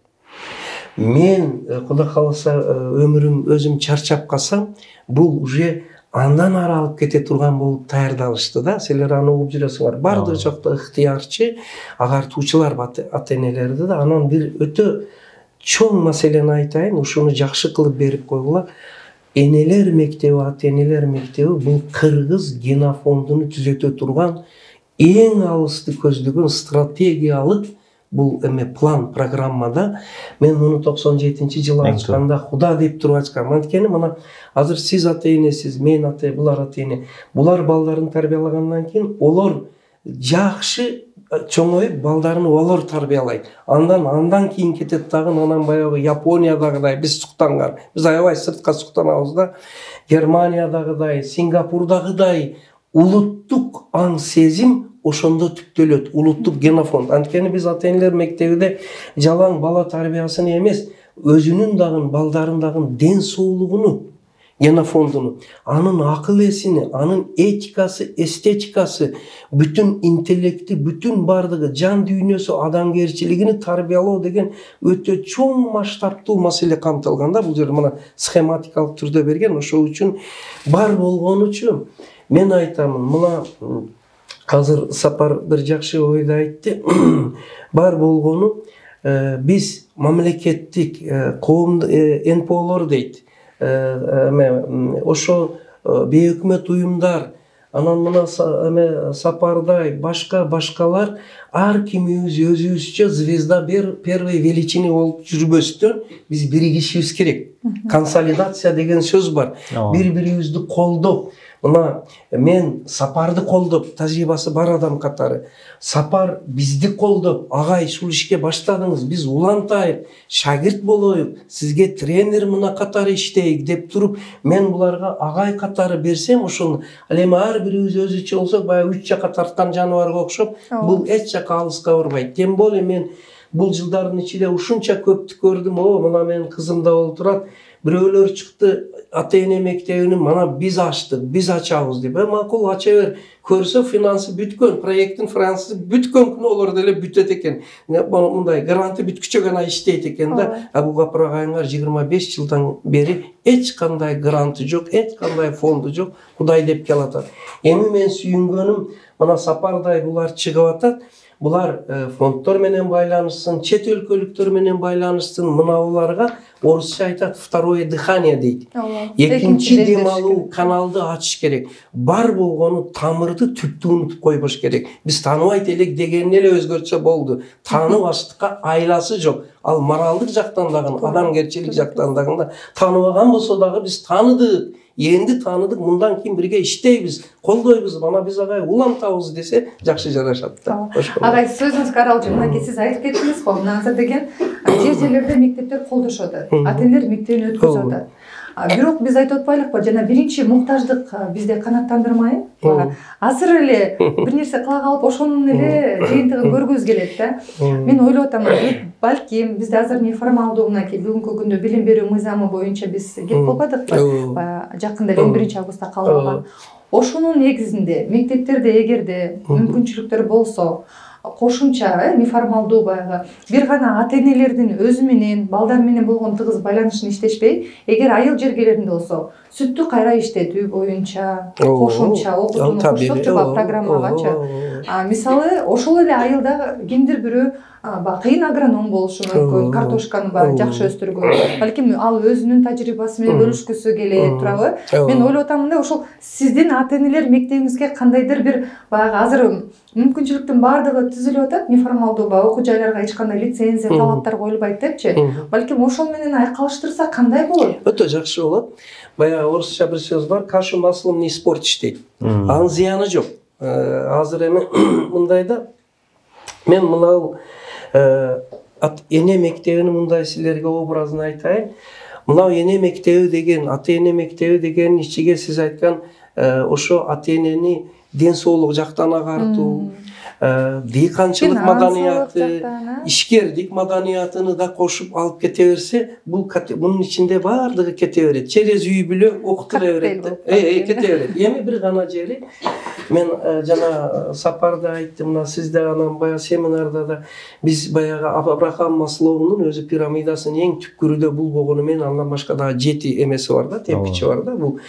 Мен Кудай калса өмүрүм өзүм чарчап калсам, бул уже андан ары алып кете турган болуп даярдалышты да. Силер аны угуп жүрөсүңөр. Бардык жакта ыктыярчы агартуучулар ата-энелерди да. Анан бир өтө чоң маселени айтайын, ушуну жакшы кылып берип койгула. Энелер мектеби, ата-энелер мектеби бул кыргыз генофондуну түзөтө турган эң алысты көздөгөн стратегиялык бул план, программада. Мен муну 97-жылы ачканда Куда деп туруп ачкам. Анткени мына азыр сиз ата-энесиз, мен ата-эне, булар ата-эне. Булар балдарын тарбиялагандан кийин олар жакшы чоңоюп балдарын олар тарбиялайт. Андан кийин кетет дагы анан баягы Япониядагыдай биз суктанган. Биз аябай сыртка суктанабыз да. Германиядагыдай, Сингапурдагыдай улуттук аң сезим ошондо түптөлөт, улуттук генофонд. Анткени биз ата-энелер мектебиде жалаң бала тарбиясын эмес, өзүнүн дагы балдарын дагы ден соолугуну, генофондуну, анын акыл эсини, анын этикасы, эстетикасы, бүтүн интеллекти, бүтүн бардыгы, жан дүйнөсү, адамгерчилигини тарбиялоо деген өтө чоң масштабтуу маселе камтылган да. Бул жерде мына схематикалык түрдө берген. Ошол үчүн бар болгонучу мен айтамын, мына азыр Сапар бир жакшы ойду айтты. Бар болгону биз мамлекеттик коомдук НПОлор дейт. Ошо бейөкмөт уюмдар, анан мына Сапардай башкалар ар кимибиз өзүбүзчө звезда первой величины болуп жүрбөстөн биз биригишибиз керек. Консолидация деген сөз бар. Бири-бирибизди колдоп, мына мен Сапарды колдоп, тажрыйбасы бар адам катары, Сапар бизди колдоп, агай ушул ишке баштадыңыз, биз улантайык, шагирт болоюк, сизге тренер мына катары иштейик деп туруп, мен буларга агай катары берсем, ошону ал эми ар бирибиз өзүчө болсок, баягы 3 жака тарткан жаныбарга окшоп, бул эч жака алыска барбайт. Тем более мен бул жылдардын ичинде ушунча көптү көрдүм. Мына менин кызым да болуп турат. Бирөөлөр чыкты, ата-эне мектебини мана биз ачтык, биз ачабыз деп. Макул, ача бер. Көрсө финансы бүткөн, проекттин финансы бүткөн күнү олар деле бүтөт экен. Мындай гранты бүткүчө гана иштейт экен да. Бул капырагайыңар 25 жылдан бери эч кандай гранты жок, эч кандай фонду жок. Кудай деп келатат. Эми мен сүйүнгөнүм, мына Сапардай булар чыгып атат. Булар фонддор менен байланышсын, чет өлкөлүктөр менен байланышсын. Мына буларга орусча айтат, второе дыхание дейт. Экинчи дем алуу каналды ачыш керек. Бар болгону тамырды түптү унутуп койбош керек. Биз тааныбайт элек дегени эле өзгөчө болду. Тааныбаштыкка айласы жок. Ал моралдык жактан дагы, адамгерчилик жактан дагы тааныбаган болсо дагы биз тааныдык. Энди тааныдык, мындан кийин бирге иштейбиз, колдойбуз, мана биз агай улантабыз десе жакшы жарашат да. Агай, сөзүңүзгө каралчу, мынакей сиз айтып кеттиңиз го, мына азыр деген жер-жерлерде мектептер колдошот, ата-энелер мектебин өткөзүп атат. Бирок биз айтып атпайлыкпы, жана биринчи муктаждык бизде канааттандырмай, азыр эле бир нерсе кыла калып, ошонун эле жыйынтыгын көргүбүз келет да. Мен ойлоп атам, балким бизде азыр неформалдуу мынакей бүгүнкү күндө билим берүү мыйзамы боюнча биз кетип калбадыкпы? Жакында 21 августта кабыл алган. Ошонун негизинде мектептерде эгерде мүмкүнчүлүктөр болсо, кошумча неформалдуу баягы бир гана ата энелердин өзү менен балдар менен болгон тыгыз байланышын иштешпей, эгер айыл жергелеринде болсо сүттү кайра иштетүү боюнча кошумча окутууну кошсок же программагачы. Мисалы ошол эле айылда кимдир бирөө кыйын агроном болушу мүмкүн, картошканы баягы жакшы өстүргөн. Балким ал өзүнүн тажрыйбасы менен бөлүшкүсү келет, туурабы? Мен ойлоп атам мындай, ошол сиздин ата энелер мектебиңизге кандайдыр бир баягы азыр мүмкүнчүлүктүн баардыгы түзүлүп атат, неформалдуу баягы окуу жайларга эч кандай лицензия, талаптар коюлбайт депчи. Балким ошол менен айкалыштырса кандай болот? Өтө жакшы болот. Баягы орусча бир сөз бар, кашу маслом не испортишь дейт. Анын зыяны жок. Азыр эми мындай да, мен мынау эне мектебинин мындай силерге образын айтайын. Мынау эне мектеби деген, ата эне мектеби деген ичиге сиз айткан ошо ата энени ден соолук жактан агартуу, дыйканчылык маданияты, ишкердик маданиятыны да кошуп алып кете берсе, мунун ичинде баардыгы кете берет. Через үй бүлө окутула берет. Кете берет. Эми бир гана жери мен жана сапарда айттым, мына сизде анан баягы семинарда да биз баягы Абрахам Маслоунун өзү пирамидасынын эң түпкүрүдө бул болгону менен андан башка дагы 7 эмеси бар да, темпичи бар да. Бул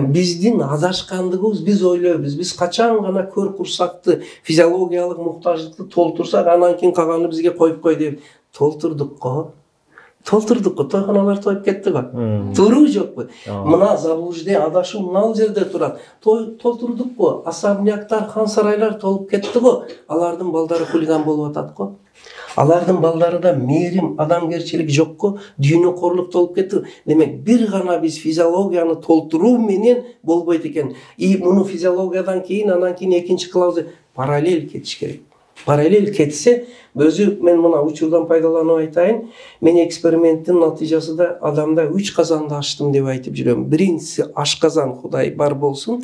биздин адашкандыгыбыз, биз ойлойбуз, биз качан гана көр курсакты, физиологиялык муктаждыкты толтурсак, анан кийин калганы бизге коюп кой деп толтурдукко, тойханалар тоюп кетти го. Туурабы жокпу? Мына заблуждение, адашуу мына жерде турат. Толтурдукко, особняктар, хан сарайлар толуп кетти го. Алардын балдары хулиган болуп атат го. Алардын балдарында мээрим, адамгерчилик жокко, дүйнөкорлук толуп кетти. Демек, бир гана биз физиологияны толтуруу менен болбойт экен. И муну физиологиядан кийин, анан кийин экинчи класс параллель кетиш керек. Параллель кетсе, өзү мен мына учурдан пайдаланып айтайын, мен эксперименттин натыйжасында адамда 3 казанды ачтым деп айтып жүрөм. Биринчиси ашказан, Кудай бар болсун.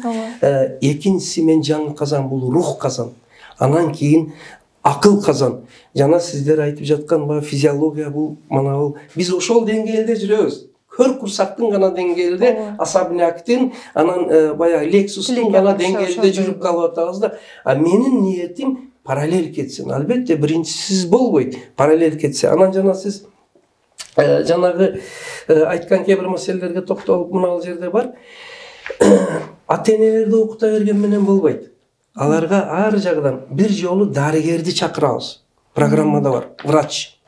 Экинчиси мен жаңы казан, бул рух казан. Анан кийин акыл казан. Жана сиздер айтып жаткан баа физиология бул, мана бул биз ошол деңгээлде жүрөбүз. Көр курсактын гана деңгээлде, особняктын, анан баягы Лексустун гана деңгээлде жүрүп калып атабыз да. Менин ниетим параллель кетсин. Албетте биринчисиз болбойт. Параллель кетсе. Анан жана сиз жанагы айткан кээ бир маселелерге токтолуп, мына жерде бар. Ата энелерди окута берген менен болбойт. Аларга ар жагдан бир жолу дарыгерди чакырабыз. Программада бар, врач.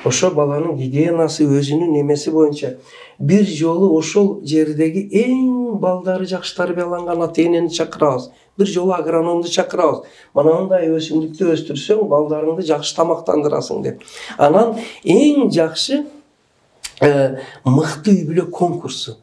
Ошо баланын гигиенасы, өзүнүн эмеси боюнча бир жолу ошол жердеги эң балдары жакшы тарбияланган ата энени чакырабыз. Бир жолу агрономду чакырабыз. Мына мындай өсүмдүктү өстүрсөң, балдарыңды жакшы тамактандырасың деп. Анан эң жакшы мыкты үй бүлө конкурсу.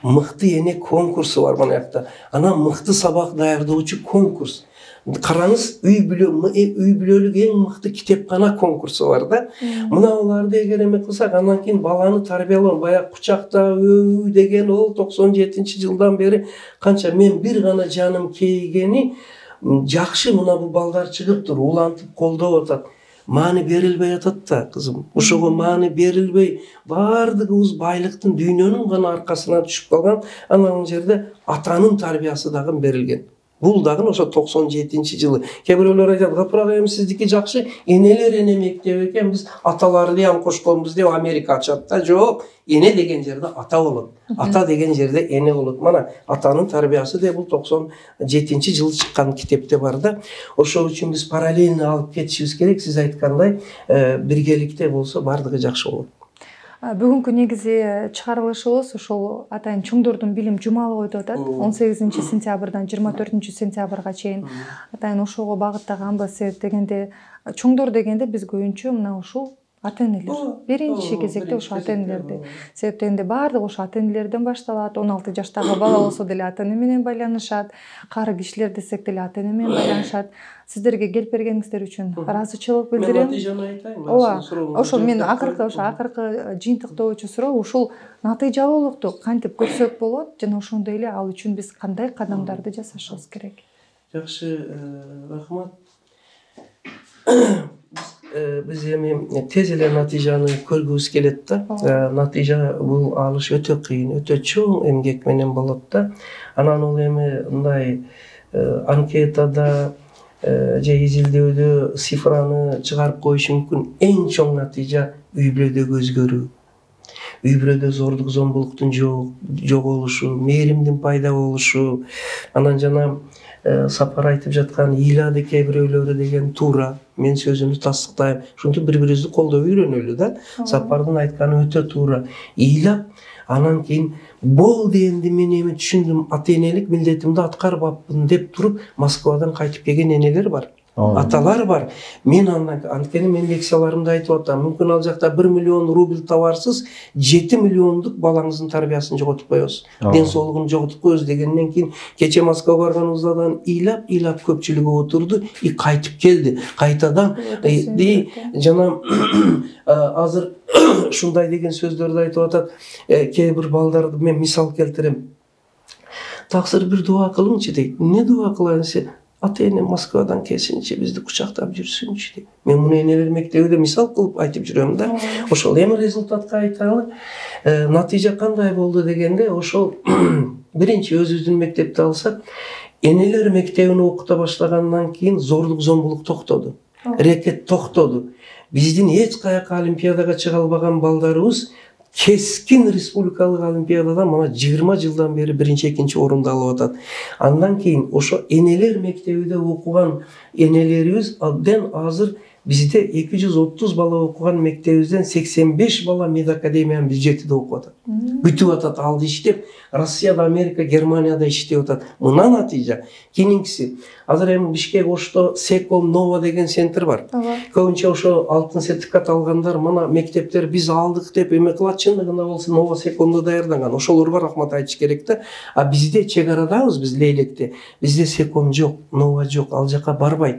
Мыкты эне конкурсу бар мына жакта. Анан мыкты сабак даярдоочу конкурс. Караңыз, үй бүлөлүк эң мыкты китепкана конкурсу бар да. Мына аларды эгер эме кылсак, анан кийин баланы тарбиялоо, баягы кучакта деген ол 97-жылдан бери канча мен бир гана жаным кейгени жакшы, мына бул балдар чыгыптыр, улантып колдоп атат. Маани берилбей атат да, кызым. Ошого маани берилбей, баардыгыбыз байлыктын, дүйнөнүн гана аркасына түшүп калган. Анан жерде атанын тарбиясы дагы берилген. Бул дагы ошо 97-жылы. Кээ бирөөлөр айтат, "Гапырак эми сиздики жакшы, энелер эне мектеби экен, биз аталарды ham кошконбуз" деп Америка ачат да. Жок, эне деген жерде ата болот. Ата деген жерде эне болот. Мана атанын тарбиясы деп бул 97-жылы чыккан китепте бар да. Ошол үчүн биз параллельно алып кетишибиз керек. Сиз айткандай, биргеликте болсо бардыгы жакшы болот. Бүгүнкү негизи чыгарылышыбыз ошол атайын чоңдордун билим жумалыбы өтүп атат. 18-сентябрдан 24-сентябрга чейин атайын ошого багыттаган себеп дегенде, чоңдор дегенде биз көбүнчө мына ушул ата энелер. Биринчи кезекте ошо ата энелерди. Себеп дегенде баардыгы ошо ата энелерден башталат. 16 жаштагы бала болсо деле ата эне менен байланышат. Кары кишилер десек деле ата эне менен байланышат. Сиздерге келип бергениңиздер үчүн ыраазычылык билдирем. Мен натыйжаны айтайын. Ооба. Ошо мен акыркы жыйынтыктоочу суроо ушул натыйжалуулукту кантип көрсөк болот жана ошондой эле ал үчүн биз кандай кадамдарды жасашыбыз керек? Жакшы, рахмат. Биз эми тез эле натыйжаны көргүбүз келет да. Натыйжа бул алыш өтө кыйын, өтө чоң эмгек менен болот да. Анан ол эми мындай анкетада же изилдөөдө цифраны чыгарып коюш мүмкүн. Эң чоң натыйжа үй бүлөдөгү өзгөрүү. Үй бүлөдө зордук зомбулуктун жоголушу, мээримдин пайда болушу, анан жана Сапар айтып жаткан ыйлады кээ бирөөлөрү деген туура. Мен сөзүмдү тастыктайм. Ушинтип бири-бирибизди колдоп үйрөнөлү да. Сапардын айтканы өтө туура. Ыйлап, анан кийин болду энди мен эми түшүндүм, ата-энелик милдетимди аткарбаппын деп туруп Москвадан кайтып келген энелер бар. Аталар бар. Мен анткени мен лекцияларымда айтып атам, мүмкүн ал жакта 1 миллион рубль табарсыз, 7 миллиондук балаңыздын тарбиясын жоготуп коебуз. Ден соолугун жоготуп коебуз дегенден кийин кече Москвага барганыбыздан ыйлап көпчүлүгү отурду и кайтып келди. Кайтадан жана азыр ушундай деген сөздөрдү айтып атат. Кээ бир балдарды мен мисал келтирем. Таксыр бир дуа кылыңчы дейт. Эмне дуа кылайын десе, ата-эне Москвадан келсинчи, бизди кучактап жүрсүнчү дейт. Мен муну энелер мектебинде мисал кылып айтып жүрөм да. Ошол эми результатка айталы. Натыйжа кандай болду дегенде, ошол биринчи өзүбүздүн мектепти алсак, энелер мектебин окута баштагандан кийин зордук зомбулук токтоду. Рекет токтоду. Биздин эч каяка олимпиадага чыга албаган балдарыбыз кескин республикалык олимпиададан мына 20 жылдан бери биринчи, экинчи орунду алып атат. Андан кийин ошо энелер мектебинде окуган энелерибиз абдан азыр бизде 230 бала окуган мектебибизден 85 бала медакадемиянын бюджетинде окуп атат. Күтүп атат алды иштеп, Россияда, Америка, Германияда иштеп атат. Мына натыйжа. Кийинкиси, азыр эми Бишкек Ошто Секом Нова деген центр бар. Көбүнчө ошо алтын сертификат алгандар мына мектептер биз алдык деп эме кылат, чындыгында болсо Нова Секомдо даярданган. Ошолорго рахмат айтыш керек да. А бизде чек арадабыз, биз Лейлекте. Бизде Секом жок, Нова жок, ал жака барбайт.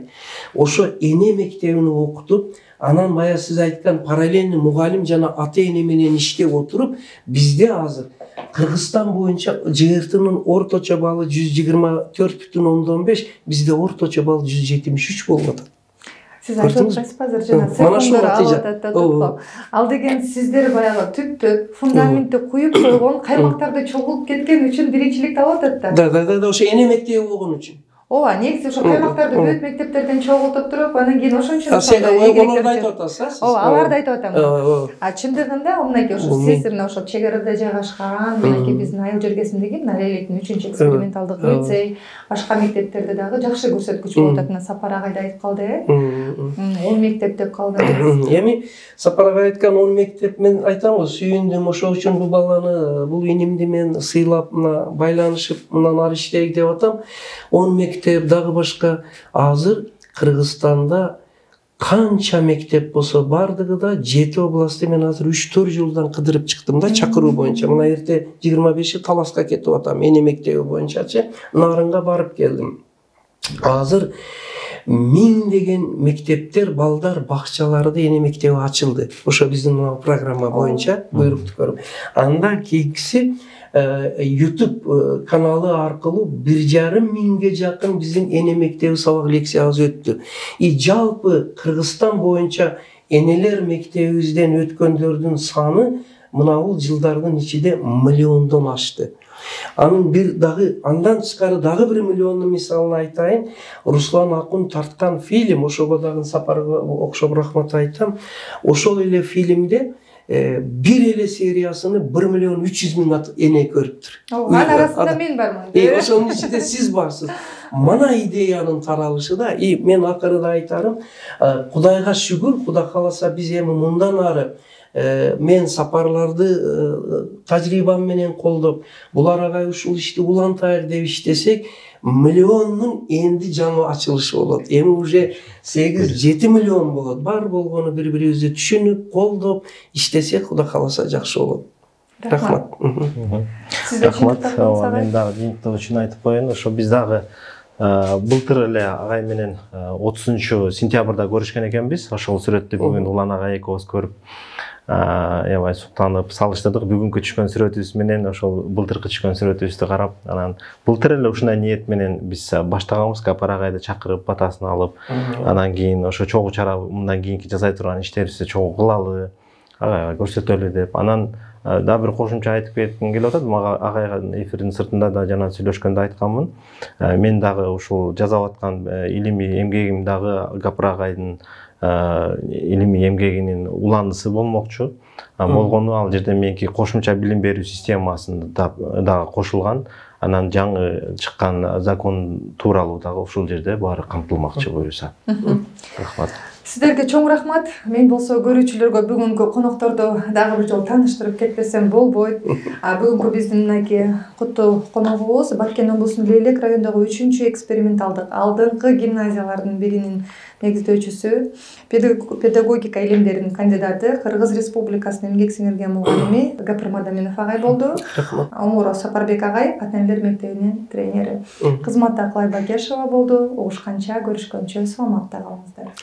Ошо эне мектебин окутуп, анан бая сиз айткан параллельный мугалим жана ата-эне менен иштеп отуруп, бизде азыр Кыргызстан боюнча ЖРТнын орточо баллы 124,5, бизде орточо балл 173 болуп атат. Сиз айтып атасызбы азыр жана секунддар алып атат деп го. Ал деген сиздер баягы түптөп фундаментти куюп койгон, каймактарда чогулуп кеткен үчүн биринчиликти алып атат да. Да, ошо эне мектеби болгон үчүн. Ооба, негизи ошо каймактарды бүт мектептерден чогултуп туруп, анан кийин ошончо оларды айтып атасыз. Ооба, аларды айтып атам. А чындыгында мынакей ошо сиз мына ошо чек арада жайгашкан, мынакей биздин айыл жергесиндеги мына Лейлектин 3-чү эксперименталдык лицей, башка мектептерде дагы жакшы көрсөткүч болуп атат. Мына Сапар агай да айтып калды, 10 мектеп деп калды. Эми Сапар агай айткан 10 мектеп, мен айтам го, сүйүндүм, ошол үчүн бул баланы, бул инимди мен сыйлап, мына байланышып, мындан ары иштейик деп атам. 10 мектеп дагы башка. Азыр Кыргызстанда канча мектеп болсо бардыгы да 7 областты мен азыр 3-4 жылдан кыдырып чыктым да, чакыруу боюнча. Мына эрте 25 Таласка кетип атам, эне мектеби боюнчачы Нарынга барып келдим. Азыр 1000 деген мектептер, балдар бакчаларды эне мектеби ачылды. Ошо биздин программа боюнча буйрукту көрүп. Анда кийинкиси YouTube каналы аркылуу 1,5 миңге жакын биздин эне мектеби сабак лекциябыз өттү. И жалпы Кыргызстан боюнча энелер мектебибизден өткөндөрдүн саны мына бул жылдардын ичинде миллиондон ашты. Анын андан тышкары дагы 1 миллиондун мисалын айтайын. Руслан Акун тарткан фильм, ошого дагы Сапарга окшоп рахмат айтам. Ошол эле фильмде бир эле сериясыны 1,3 миллион эне көрүптүр. Анын арасында мен бармын. Ошонун ичинде сиз барсыз. Мана идеянын таралышы да. Мен акырында айтарым, Кудайга шүгүр, Кудай кааласа биз эми мындан ары мен Сапарларды тажрыйбам менен колдоп, булар агай ушул ишти улантайык деп иштесек, миллионнун энди жаңы ачылышы болот. Эми уже 8-7 миллион болот. Бар болгону бири-бирибизди түшүнүп, колдоп иштесек, Кудай кааласа жакшы болот. Рахмат. Рахмат. Мен дагы жыйынтык үчүн айтып коеюн. Ошо биз дагы былтыр эле агай менен 30 сентябрда көрүшкөн экенбиз. Ошол сүрөттү бүгүн Улан агай экөөбүз көрүп, аябай суктанып салыштырдык. Бүгүнкү түшкөн сүрөтүбүз менен ошол былтыркы түшкөн сүрөтүбүздү карап, анан былтыр эле ушундай ниет менен биз баштаганбыз, Сапар агайды чакырып, батасын алып, анан кийин ошо чогуу чара мындан кийинки жасай турган иштерибизди чогуу кылалы. агайга көрсөтөлү деп. Анан дагы бир кошумча айтып кетким келип атат. Мага агайга эфирдин сыртында да жана сүйлөшкөндө айтканмын. Мен дагы ушул жасап аткан илимий эмгегим дагы Гапыр агайдын илимий эмгегинин уландысы болмокчу. Болгону ал жерде меники кошумча билим берүү системасында дагы кошулган. Анан жаңы чыккан закон тууралуу дагы ушул жерде баары камтылмакчы буюрса. Рахмат. Сиздерге чоң рахмат. Мен болсо көрүүчүлөргө бүгүнкү конокторду дагы бир жолу тааныштырып кетпесем болбойт. Бүгүнкү биздин мынакей куттуу коногубуз Баткен облусунун Лейлек районундагы 3-чү эксперименталдык алдыңкы гимназиялардын биринин негиздөөчүсү, педагогика илимдеринин кандидаты, Кыргыз Республикасынын эмгек сиңирген мугалими Гапыр Мадаминов агай болду. Омуров Сапарбек агай ата энелер мектебинин тренери. Кызматта Акылай Бакешова болду. Угушканча, көрүшкөнчө саламатта калыңыздар.